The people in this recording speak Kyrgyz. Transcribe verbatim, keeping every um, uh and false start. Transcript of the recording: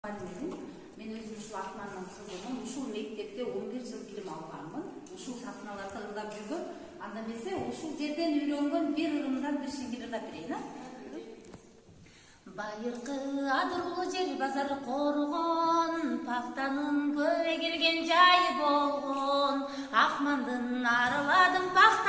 Мен өзүм ушул Акмандын кызымын. Ушул мектепте он бир жыл билим алганмын. Ушул сахналарда ырдап жүргөн. Анда эмесе ушул жерден үйрөнгөн бир ырымдан бир шеңгел ырдап берейин, а? Байыркы адырлуу жер базар коргон, пактанын көп эгилген жайы болгон. Акмандын араладым пакта